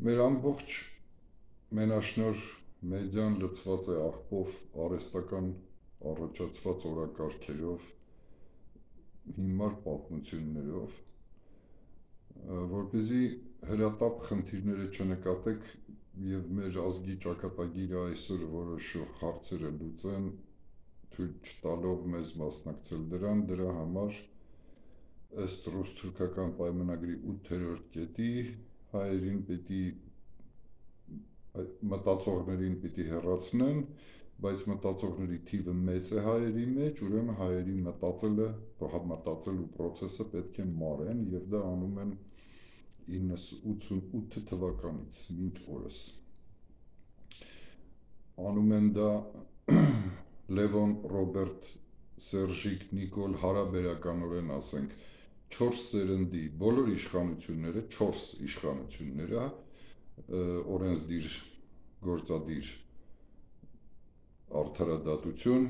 Մեր ամբողջ մենաշնոր մեդիան լցված է աղբով արհեստական առաջացված օրակարգերով, հիմար պատմություններով, որպեսզի հրատապ խնդիրները չնկատեք եւ մեր ազգի ճակատագիրը այսօր որոշող հարցերը լուծեն, թույլ չտալով մեզ մասնակցել դրա համար ըստ ռուս-թուրքական պայմանագրի 8-րդ կետի հայերին պիտի մտածողներին պիտի հեռացնեն, բայց մտածողների թիվը մեծ է հայերի մեջ, ուրեմն հայերի մտածելու պրոցեսը պետք է մարեն եւ դա անում են 988 թվականից մինչ օրս։ Անում են դա Լևոն, Ռոբերտ, Սերժիկ, Նիկոլ հարաբերականորեն ասենք 4 սերնդի բոլոր իշխանությունները, 4 իշխանությունները, օրենսդիր, գործադիր, արդարադատություն,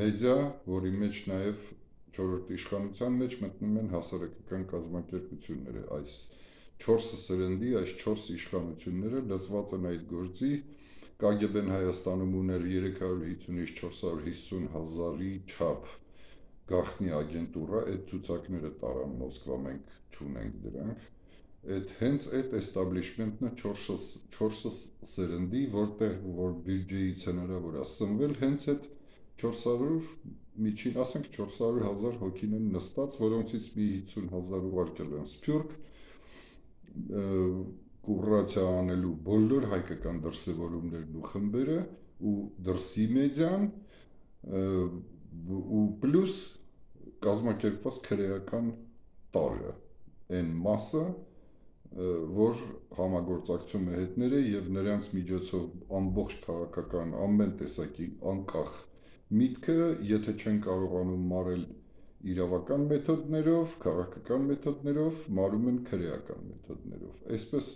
մեդիա, որի մեջ նաև 4-րդ իշխանության մեջ մտնում են հասարակական կազմակերպությունները, այս 4 սերնդի, այս 4 իշխանությունները լծված են այդ գործի, KGB-ն Հայաստանում ուներ 350-ից 450 հազարի չափ գաղտնի ագենտուրա, այդ ցուցակները տարան Մոսկվա, մենք չունենք դրանք, հենց այդ էստաբլիշմենտն է 4 սերնդի, որտեղ որ բյուջեից հնարավոր է սնվել, հենց այդ 400, միջին ասենք 400,000 հոգին են նստած, որոնցից մի 50,000 ուղարկել են Սփյուռք, կուրացիա անելու բոլոր հայկական դրսևորումներն ու խմբերը ու դրսի մեդիան ու պլյուս կազմակերպված քրեական տարրը, այն մասը, որ համագործակցում է հետները եւ նրանց միջոցով ամբողջ քաղաքական ամեն տեսակի անկախ միտքը, եթե չեն կարողանում մարել իրավական մեթոդներով, քաղաքական մեթոդներով, մարում են քրեական մեթոդներով։ Այսպես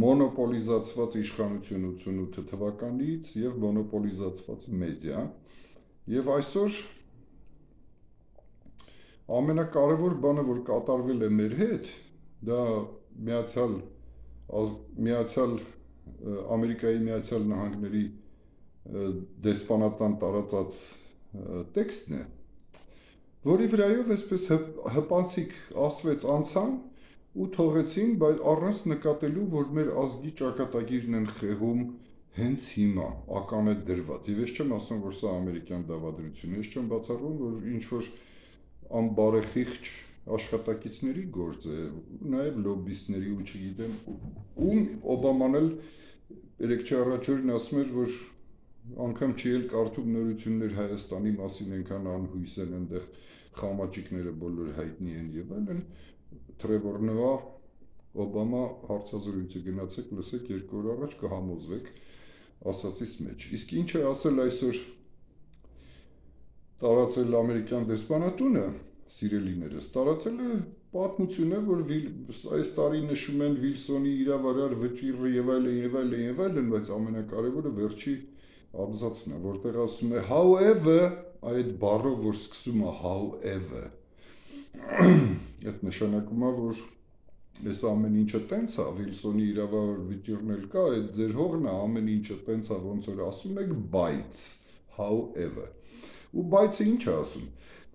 մոնոպոլիզացված իշխանություն 88 թվականից եւ մոնոպոլիզացված մեդիա եւ այսօր ամենակարևոր բանը, որ կատարվել է մեր հետ, դա Ամերիկայի Միացյալ Նահանգների դեսպանատան տարածած տեքստն է, որի վրայով այսպես հպանցիկ ասվեց անցան ու թողեցին, բայց առանց նկատելու, որ մեր ազգի ճակատագիրն են խեղում հենց հիմա, ական է դրված։ Եվ ես չեմ ասում, որ սա ամերիկյան դավադրություն է, ես չեմ բացառում, որ ինչ-որ անբարեխիղճ աշխատակիցների գործ է, նաև լոբբիստների ու չգիտեմ, ում Օբաման էլ 3 առաջ օրն ասում էր, որ անգամ չի էլ կարդում նորություններ Հայաստանի մասին, այնքան անհույս են այնտեղ խամաճիկները բոլոր հայտնի են եւ այլն, Թրևոր Նոա, Օբամա հարցազրույցը գնացեք, լսեք 2 օր առաջ կհամոզվեք ասածից մեջ։ Իսկ ինչ է ասել այսօր տարածել ամերիկյան դեսպանատունը, սիրելիներս, տարածել է պատմությունը, որ այս տարի նշում են Վիլսոնի իրավարար վճիռը եւ այլն, բայց ամենակարևորը վերջի աբզացն է, որտեղ ասում է however, այդ բառով, որ սկսում է however, այդ նշանակում է, որ այս ամեն ինչը տենց է, Վիլսոնի իրավարար վճիռն էլ կա, այդ ձեր հողն է, ամեն ինչը տենց է, ոնց որ ասում եք, բայց however, ու բայցը ինչ է ասում,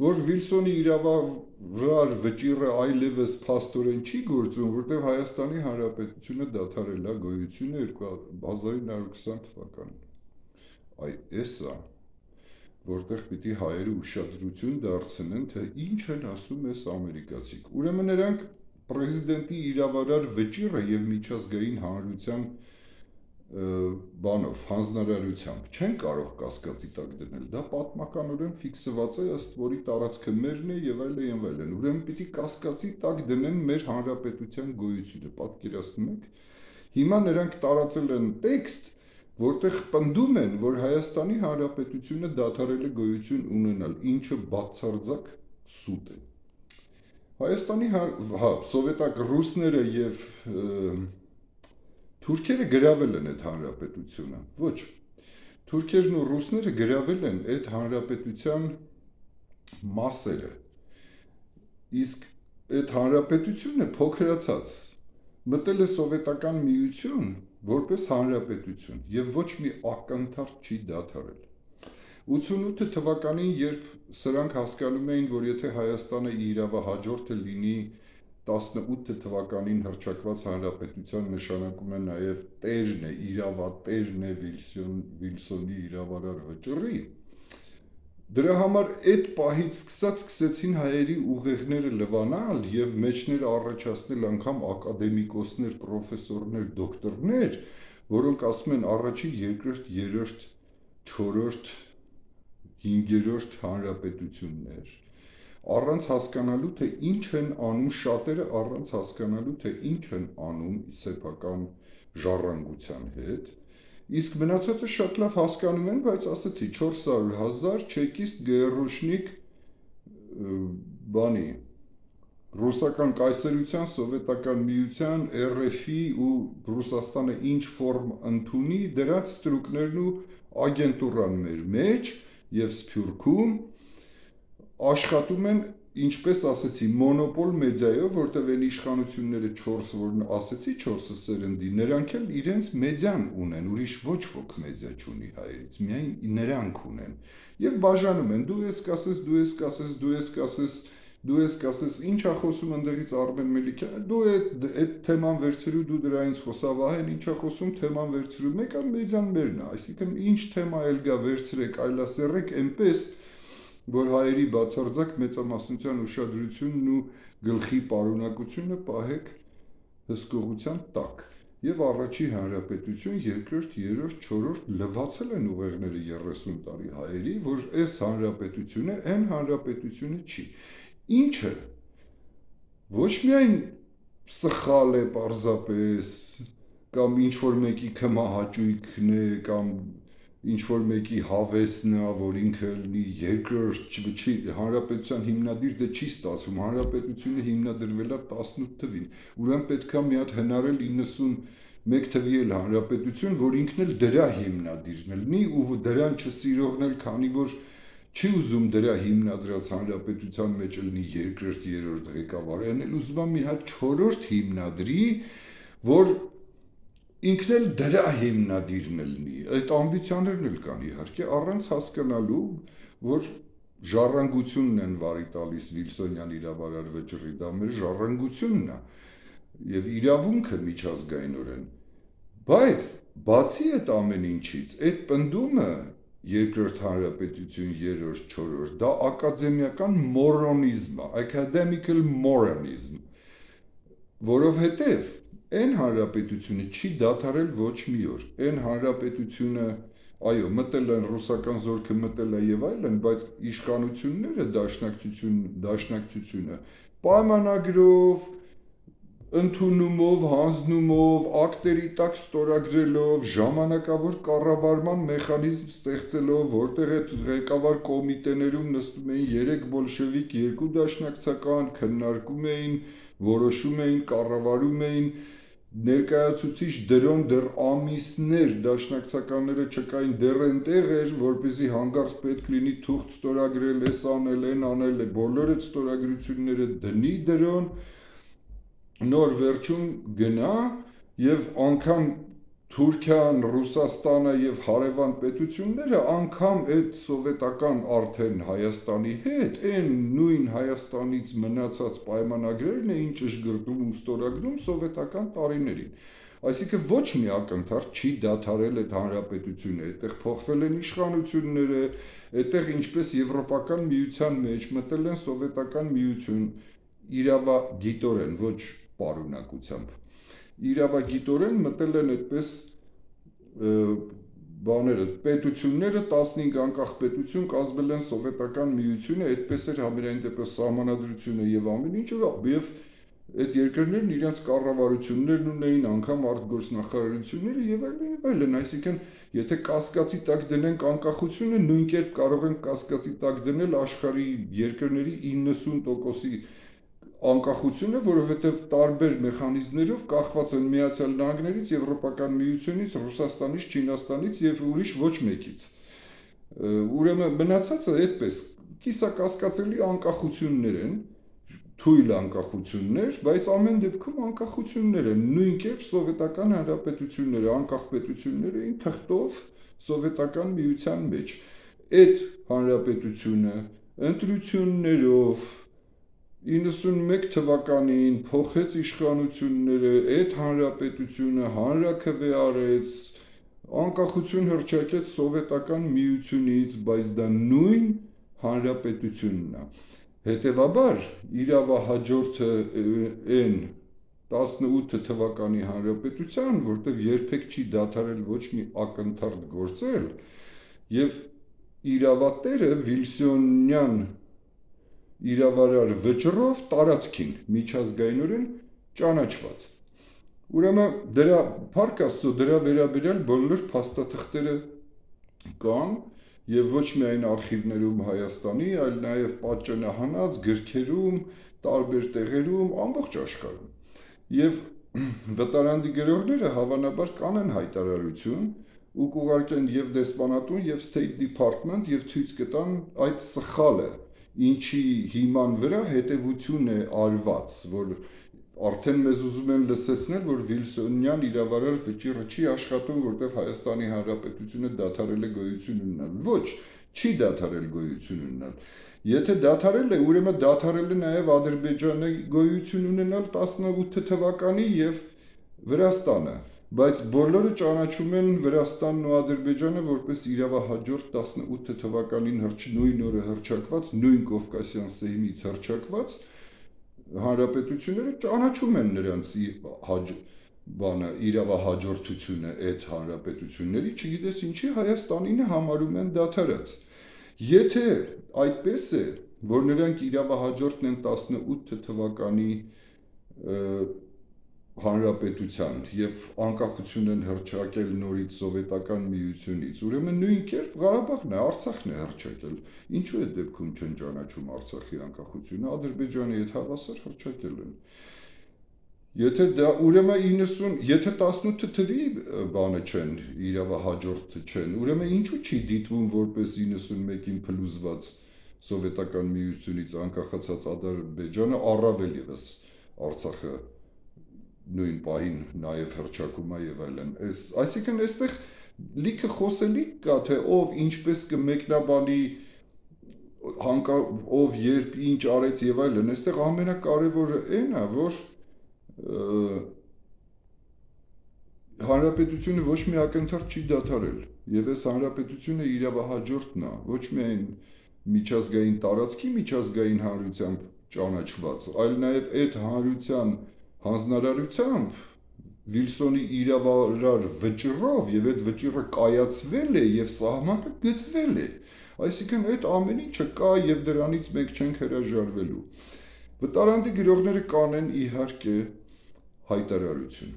որ Վիլսոնի իրավարար վճիռը այլևս փաստորեն չի գործում, որտեղ Հայաստանի Հանրապետությունը դադարել է գոյությունը 1920 թվականին։ Այ էսա, որտեղ պիտի հայերը ուշադրություն դարձնեն, թե ինչ են ասում այս ամերիկացիք։ Ուրեմն նրանք պրեզիդենտի իրավարար վճիռը եւ միջազգային հանրության բանով, հանձնարարությամբ չեն կարող կասկածի տակ դնել, դա պատմականորեն ֆիքսված է, ըստ որի տարածքը մերն է եւ այլն, ուրեմն պիտի կասկածի տակ դնեն մեր հանրապետության գոյությունը, պատկերացնում եք։ Հիմա նրանք տարածել են տեքստ, որտեղ պնդում են, որ Հայաստանի Հանրապետությունը դադարել է գոյություն ունենալ, ինչը բացարձակ սուտ է։ Հայաստանի սովետակ ռուսները եւ թուրքերը գրավել են այդ հանրապետությունը։ Ոչ։ Թուրքերն ու ռուսները գրավել են այդ հանրապետության մասերը։ Իսկ այդ հանրապետությունը փոքրացած մտել է սովետական միություն որպես հանրապետություն եւ ոչ մի ակնթարթ չի դադարել։ 88 թվականին, երբ սրանք հասկանում էին, որ եթե Հայաստանը իրավահաջորդը լինի 18 թվականին հռչակված հանրապետության, նշանակում է նաև տերն է, իրավատերն է Վիլսոնի իրավարար վճռի, դրա համար այդ պահից սկսեցին հայերի ուղեղները լվանալ եւ մեջները առաջացնել անգամ ակադեմիկոսներ, պրոֆեսորներ, դոկտորներ, որոնք ասում են առաջին, երկրորդ, երրորդ, չորրորդ, հինգերորդ հանրապետություններ, առանց հասկանալու թե ինչ են անում, շատերը առանց հասկանալու թե ինչ են անում սեփական ժառանգության հետ, իսկ մնացածը շատ լավ հասկանում են, բայց ասացի 400,000 չեկիստ գերուշնիկ բանի ռուսական կայսրության, սովետական միության, RF-ի ու Ռուսաստանը ինչ ֆորմ ընդունի, դրանց ստրուկներն ու ագենտուրան մեր մեջ եւ Սփյուռքում աշխատում են, ինչպես ասեցի, մոնոպոլ մեդիայով, որտեղ են իշխանությունները 4, որ ասեցի 4 սերնդի, նրանք էլ իրենց մեդիան ունեն, ուրիշ ոչ ոք մեդիա չունի հայերից, միայն նրանք ունեն։ Եվ բաժանում են, դու ես կասես, դու ես կասես, դու ես կասես, դու ես կասես, ինչ է խոսում ընդեղից Արմեն Մելիքյանը, դու այդ թեման վերցրու, դու դրա ինձ խոսավահեն, ինչ է խոսում, թեման վերցրու, մեկ այլ մեդիան մերն է, այսինքն ինչ թեմա էլ գա վերցրեք, այլասերեք, այնպես որ հայերի բացարձակ մեծամասնության ուշադրությունն ու գլխի պարունակությունը պահեք հսկողության տակ։ Եվ առաջի հանրապետություն, երկրորդ, երրորդ, չորրորդ լվացել են ուղեղները 30 տարի հայերի, որ այս հանրապետությունը այն հանրապետությունը չի։ Ինչը ոչ միայն սխալ է պարզապես, կամ ինչ-որ մեկի քմահաճույքն է, կամ ինչ-որ մեկի հավեսն է, որ ինքը լինի երկրորդ չի, հանրապետության հիմնադիր դե չի ստացվում, հանրապետությունը հիմնադրվել է 18 թվին, ուրեմն պետք է մի հատ հնարել 91 թվի էլ հանրապետություն, որ ինքն էլ դրա հիմնադիրն լինի ու դրան չսիրողն էլ, քանի որ չի ուզում դրա հիմնադրած հանրապետության մեջ լինի երկրորդ, երրորդ ղեկավարը, այն էլ ուզում է մի հատ չորրորդ հիմնադրի, որ ինքն էլ դրա հիմնադիրն լինի, այդ ամբիցիաներն էլ կան իհարկե, առանց հասկանալու, որ ժառանգությունն են վարի տալիս Վիլսոնյան իրավարար վճռի, դա մեր ժառանգությունն է եւ իրավունքը միջազգայինորեն, բայց բացի այդ ամեն ինչից, այդ պնդումը երկրորդ հանրապետություն, երրորդ, չորրորդ, դա ակադեմիական մորոնիզմ է, academical moranism, որովհետեւ Այն հանրապետությունը չի դադարել ոչ մի օր, այն հանրապետությունը, այո, մտել են ռուսական զորքը մտել է եւ այլն, բայց իշխանությունները դաշնակցությունը պայմանագրով, ընդունումով, հանձնումով, ակտերի տակ ստորագրելով, ժամանակավոր կառավարման մեխանիզմ ստեղծելով, որտեղ այդ ղեկավար կոմիտեներում նստում էին 3 բոլշևիկ, 2 դաշնակցական, քննարկում էին, որոշում էին, կառավարում էին ներկայացուցիչ դրոն դեռ ամիսներ դաշնակցականները չկային դեռ այնտեղ էր, որպեսզի հանգարց պետք լինի թուղթ ստորագրել, էս անել, այն անել, բոլոր այդ ստորագրությունները դնի դրոն, նոր վերջում գնա եւ անգամ Թուրքիան, Ռուսաստանը եւ հարևան պետությունները անգամ այդ սովետական արդեն Հայաստանի հետ, այն նույն Հայաստանից մնացած պայմանագրերն էին ճշգրտում ու ստորագրում սովետական տարիներին։ Այսինքն ոչ մի ակնթարթ չի դադարել այդ հանրապետությունը, այդտեղ փոխվել են իշխանությունները, այդտեղ ինչպես Եվրոպական միության մեջ մտել են սովետական միություն իրավագիտորեն, ոչ պարունակությամբ։ Իրավագիտորեն մտել են այդպես բաները, պետությունները 15 անկախ պետություն կազմել են սովետական միությունը, այդպես էր համերային դեպս սահմանադրությունը եւ ամեն ինչը, եւ այդ երկրներն իրենց կառավարություններն ունեին, անգամ արտգործնախարարությունները եւ այլն, այսինքն եթե կասկածի տակ դնենք անկախությունը, նույն կերպ կարող ենք կասկածի տակ դնել աշխարհի երկրների 90%-ի անկախությունը, որովհետև տարբեր մեխանիզմներով կախված են Միացյալ Նահանգներից, Եվրոպական միությունից, Ռուսաստանից, Չինաստանից եւ ուրիշ ոչ մեկից։ Ուրեմն մնացածը այդպես կիսակասկածելի անկախություններ են, թույլ անկախություններ, բայց ամեն դեպքում անկախություններ են, նույն կերպ սովետական հանրապետությունները, անկախ պետություններ էին թղթով սովետական միության մեջ։ Այդ հանրապետությունը ընտրություններով 91 թվականին փոխեց իշխանությունները, այդ հանրապետությունը հանրաքվե արեց, անկախություն հռչակեց սովետական միությունից, բայց դա նույն հանրապետությունն է։ Հետևաբար իրավահաջորդը այն 18 թվականի հանրապետության, որտեղ երբեք չի դադարել ոչ մի ակնթարթ գործել, եւ իրավատերը Վիլսոնյան իրավարար վճռով տարածքին միջազգայինորեն ճանաչված։ Ուրեմն դրա փառք Աստծո դրա վերաբերյալ բոլոր փաստաթղթերը կան եւ ոչ միայն արխիվներում Հայաստանի, այլ նաեւ պատճենահանած գրքերում, տարբեր տեղերում, ամբողջ աշխարհում։ Եվ վտարանդի գրողները հավանաբար կանեն հայտարարություն ու կուղարկեն եւ դեսպանատուն եւ State Department եւ ցույց կտան այդ սխալը, ինչի հիման վրա հետևություն է արված, որ արդեն մեզ ուզում են լսեցնել, որ Վիլսոնյան իրավարար վճիռը չի աշխատում, որտեղ Հայաստանի Հանրապետությունը դադարել է գոյություն ունենալ։ Ոչ, չի դադարել գոյություն ունենալ։ Եթե դադարել է, ուրեմն դադարել է նաև Ադրբեջանը գոյություն ունենալ 18 թվականի եւ Վրաստանը, բայց բոլորը ճանաչում են Վրաստանն ու Ադրբեջանը որպես իրավահաջորդ 18 թվականին նույն օրը հռչակված, նույն Կովկասյան սեյմից հռչակված հանրապետությունները ճանաչում են նրանց իրավահաջորդությունը այդ հանրապետությունների, չգիտես ինչի Հայաստանին համարում են դադարած։ Եթե այդպես է, որ նրանք իրավահաջորդն են 18 թվականի հանրապետության եւ անկախություն են հռչակել նորից սովետական միությունից, ուրեմն նույն կերպ Ղարաբաղն է, Արցախն է հռչակել։ Ինչու է դեպքում չեն ճանաչում Արցախի անկախությունը, Ադրբեջանի հետ հավասար հռչակել են։ Եթե դա ուրեմն 90, եթե 18 թվի բանը չեն, իրավահաջորդը չեն, ուրեմն ինչու չի դիտվում որպես 91-ին փլուզված սովետական միությունից անկախացած Ադրբեջանը, առավել եւս Արցախը նույն պահին նաև հռչակում է եւ այլն։ Այսինքն այստեղ լիքը խոսելիք կա, թե ով ինչպես կմեկնաբանի, ով երբ ինչ արեց եւ այլն։ Այստեղ ամենակարևորը այն է, որ հանրապետությունը ոչ մի ակնթարթ չի դադարել եւ այս հանրապետությունը իրավահաջորդն է, ոչ միայն միջազգային տարածքի միջազգային հանրությամբ ճանաչված, այլ նաեւ այդ հանրության հանձնարարությամբ Վիլսոնի իրավարար վճռով եւ այդ վճիռը կայացվել է եւ սահմանը գծվել է։ Այսինքն այդ ամեն ինչը կա եւ դրանից մենք չենք հրաժարվելու։ Վտարանդի գրողները կանեն իհարկե հայտարարություն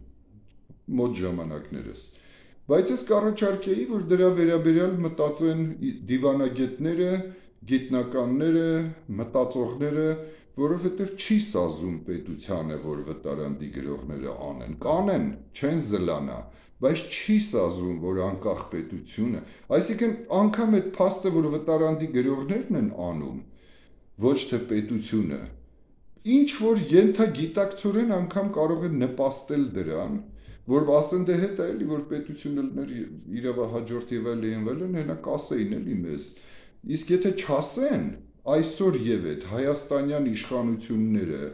մոտ ժամանակներս, բայց ես կառաջարկեի, որ դրա վերաբերյալ մտածեն դիվանագետները, գիտնականները, մտածողները, որովհետև չի սազում պետությանը, որ վտարանդի գրողները անեն, կանեն, չեն զլանա, բայց չի սազում, որ անկախ պետությունը, այսինքն անգամ այդ փաստը, որ վտարանդի գրողներն են անում, ոչ թե պետությունը, ինչ որ ենթագիտակցորեն անգամ կարող են նպաստել դրան, որ ասեն դե հետ է էլի, որ պետությունը լներ իրավահաջորդ եւ այլն, հենա կասեին էլի մեզ, իսկ եթե չասեն, այսօր եւ այդ հայաստանյան իշխանությունները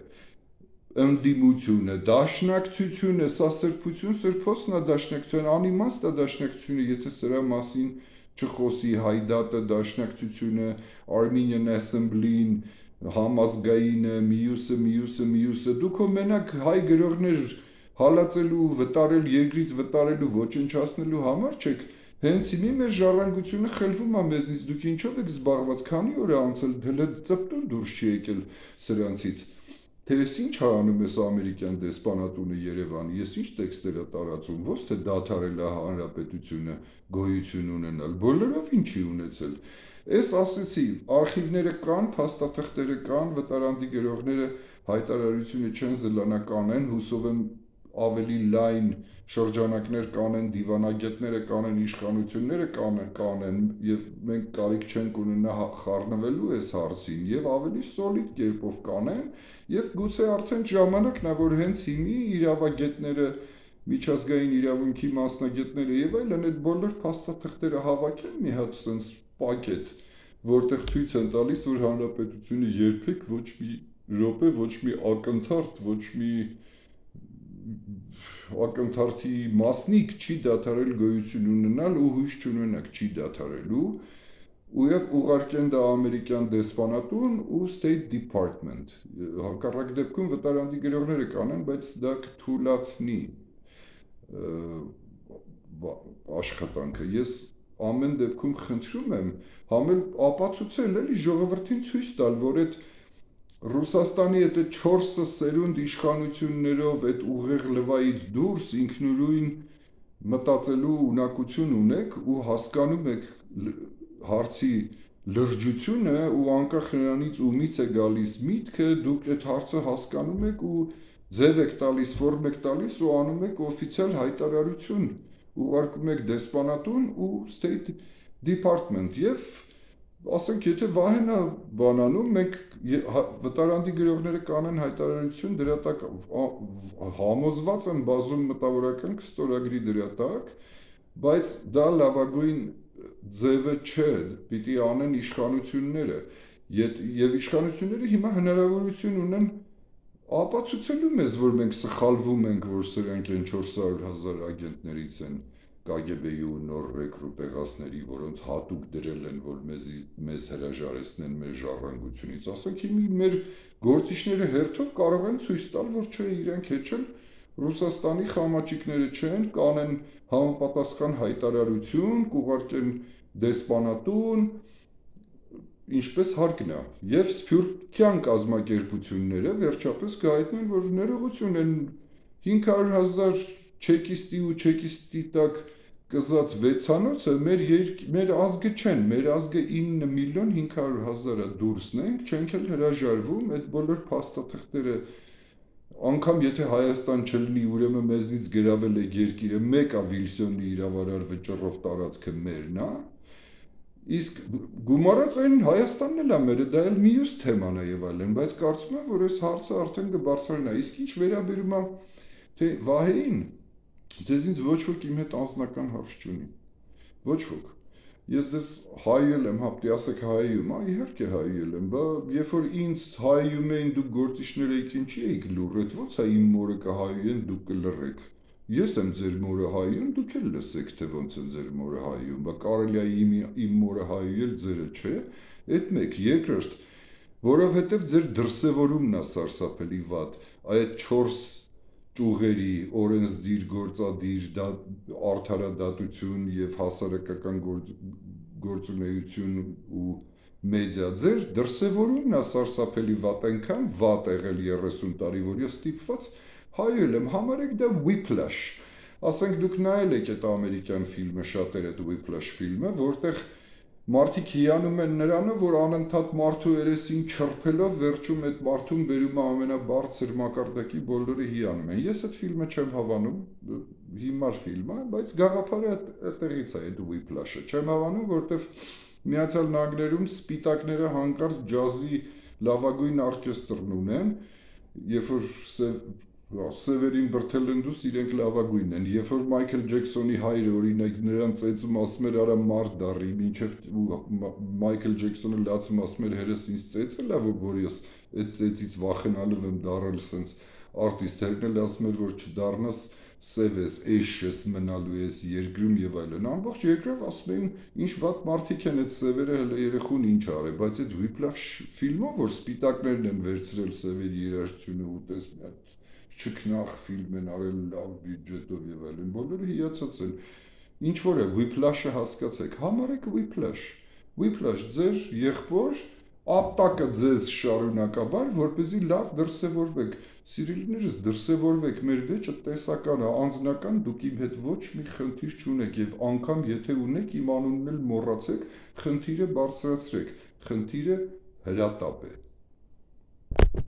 ընդդիմությունը, դաշնակցությունը, սա սրբություն, սրբոցն է դաշնակցություն, անիմաստ է դաշնակցությունը, եթե սրա մասին չխոսի Հայդատը, դաշնակցությունը, Armenian Assembly-ն, համազգայինը, մյուսը, դուք մենակ հայ գրողներ հալածելու, վտարել, երկրից վտարելու, ոչնչացնելու համար չեք, հենց հիմի մեր ժառանգությունը խելվում է մեզնից, դուք ինչով եք զբաղված, քանի օր է անցել, հələ ծպտուն դուրս չի եկել սրանցից, թե ես ինչ անում ես ամերիկյան դեսպանատունը Երևանի, ես ինչ տեքստեր է տարածում, ոչ թե դադարել է հանրապետությունը գոյություն ունենալ, բոլորով ինչի ունեցել։ Ես ասեցի, արխիվները կան, փաստաթղթերը կան, վտարանդի գրողները հայտարարությունը չեն զլանա կանեն, հուսով եմ ավելի լայն շրջանակներ կանեն, դիվանագետները կանեն, իշխանությունները կանեն եւ մենք կարիք չենք ունենա խառնվելու այս հարցին եւ ավելի սոլիդ կերպով կանեն եւ գուցե արդեն ժամանակն է որ հենց հիմի իրավագետները միջազգային իրավունքի մասնագետները եւ այլն այդ բոլոր փաստաթղթերը հավաքեն մի հատ sense պակետ որտեղ ցույց են տալիս որ հանրապետությունը երբեք ոչ մի րոպե ոչ մի ակնթարթ ոչ մի ակնթարթի մասնիկ չի դադարել գոյություն ունենալ ու հույս չունենակ չի դադարելու ու եւ ուղարկեն դա ամերիկյան դեսպանատուն ու State Department հակառակ դեպքում վտարանդի գրողները կանեն բայց դա կթույլատնի աշխատանքը ես ամեն դեպքում խնդրում եմ համել ապացուցել էլի ժողովրդին ցույց տալ որ այդ Ռուսաստանի այդ 4 սերունդ իշխանություններով այդ ուղեղ լվայից դուրս ինքնուրույն մտածելու ունակություն ունեք ու հասկանում եք հարցի լրջությունը ու անկախ նրանից ումից է գալիս միտքը դուք այդ հարցը հասկանում եք ու ձև եք տալիս ֆորմ եք տալիս ու անում եք օֆիցիալ հայտարարություն ուղարկում եք դեսպանատուն ու State Department եւ ասենք եթե վահենա բանանում մենք վտարանդի գրողները կանեն հայտարարություն դրա տակ համոզված են բազում մտավորական կստորագրի դրա տակ բայց դա լավագույն ձևը չէ պիտի անեն իշխանությունները եւ իշխանությունները հիմա հնարավորություն ունեն ապացուցելու մեզ որ մենք սխալվում ենք որ սրանք են 400,000 ագենտներից են KGB-ի ու նոր ռեկրուտեղացների, որոնց հատուկ դրել են, որ մեզ հրաժարեցնեն մեր ժառանգությունից, ասենք հիմի մեր գործիչները հերթով կարող են ցույց տալ, որ չէ իրենք հեչել Ռուսաստանի խամաճիկները չեն, կանեն համապատասխան հայտարարություն, կուղարկեն դեսպանատուն, ինչպես հարկն է, եւ սփյուռքյան կազմակերպությունները վերջապես կհայտնեն, որ ներողություն են 500,000 չեկիստի ու չեկիստի տակ կզած վեցանոցը մեր ազգը չեն, մեր ազգը 9,500,000-ը դուրսն ենք, չենք էլ հրաժարվում, այդ բոլոր փաստաթղթերը անգամ եթե Հայաստան չլինի, ուրեմն մեզնից գրավել է երկիրը, մեկը Վիլսոնի իրավարար վճռով տարածքը մերն է, իսկ գումարած այն Հայաստանն էլ է մերը, դա էլ մյուս թեման է եւ այլն, բայց կարծում եմ, որ այս հարցը արդեն կբարձրանա, իսկ ինչ վերաբերում է թե Վահեին Ձեզ ոչ ոք իմ հետ անձնական հարց չունի, ոչ ոք, ես ձեզ հայել եմ, հապտի ասեք հայում, իհարկե հայել եմ, բա երբ որ ինձ հայում էին դուք գործիչներ էիք ինչի էիք լուր, այդ ո՞նց է իմ մորը կհայեն դուք կլռեք, ես եմ ձեր մորը հայում, դուք էլ լսեք թե ոնց է ձեր մորը հայում, բա կարելի է իմ մորը հայել ձերը չէ, այդ մեկ, երկրորդ, որովհետև ձեր դրսևորումն է սարսափելի վատ, այդ 4 ճուղերի օրենսդիր, գործադիր, արդարադատություն եւ հասարակական գործունեություն ու մեդիա ձեր դրսևորումն է սարսափելի վատ այնքան վատ եղել 30 տարի, որ ես ստիպված հայել եմ, համարեք դա Whiplash, ասենք դուք նայել եք այդ ամերիկյան ֆիլմը, շատերը այդ Whiplash ֆիլմը, որտեղ մարդիկ հիանում են նրանով, որ անընդհատ մարդու երեսին չրփելով վերջում այդ մարդուն բերում է ամենաբարձր մակարդակի բոլորը հիանում են։ Ես այդ ֆիլմը չեմ հավանում, հիմար ֆիլմ է, բայց գաղափարը այդտեղից է, այդ Whiplash-ը։ Չեմ հավանում, որովհետև Միացյալ Նահանգներում սպիտակները հանկարծ ջազի լավագույն օրկեստրն ունեն, երբ որ Սևերին բրթելնդուս իրենք լավագույնն են, երբ որ Մայքլ Ջեքսոնի հայրը օրինակ նրան ծեծում ասում էր արա մարդ դառի, մինչև Մայքլ Ջեքսոնը լացում ասում էր հերս ինձ ծեծել է, որ ես այդ ծեծից վախենալով եմ դառել սենց արտիստ, հերն էլ ասում էր, որ չդառնաս սև ես, էշ ես, մնալու ես երկրում եւ այլն, ամբողջ երկրով ասում էին, ինչ վատ մարդիկ են այդ սևերը հələ երեխուն ինչ արել, բայց այդ Whiplash ֆիլմով, որ սպիտակներն են վերցրել սևերի երաժշտությունը ու տես մի հատ չքնախ ֆիլմ են արել լավ բյուջետով եւ այլն, բոլորը հիացած են, ինչ որ է Whiplash-ը հասկացեք, համարեք Whiplash ձեր եղբոր ապտակը ձեզ շարունակաբար, որպեսզի լավ դրսևորվեք, սիրելիներս դրսևորվեք, մեր վեճը տեսական է, անձնական, դուք իմ հետ ոչ մի խնդիր չունեք եւ անգամ եթե ունեք իմ անունն էլ մոռացեք, խնդիրը բարձրացրեք, խնդիրը հրատապ է։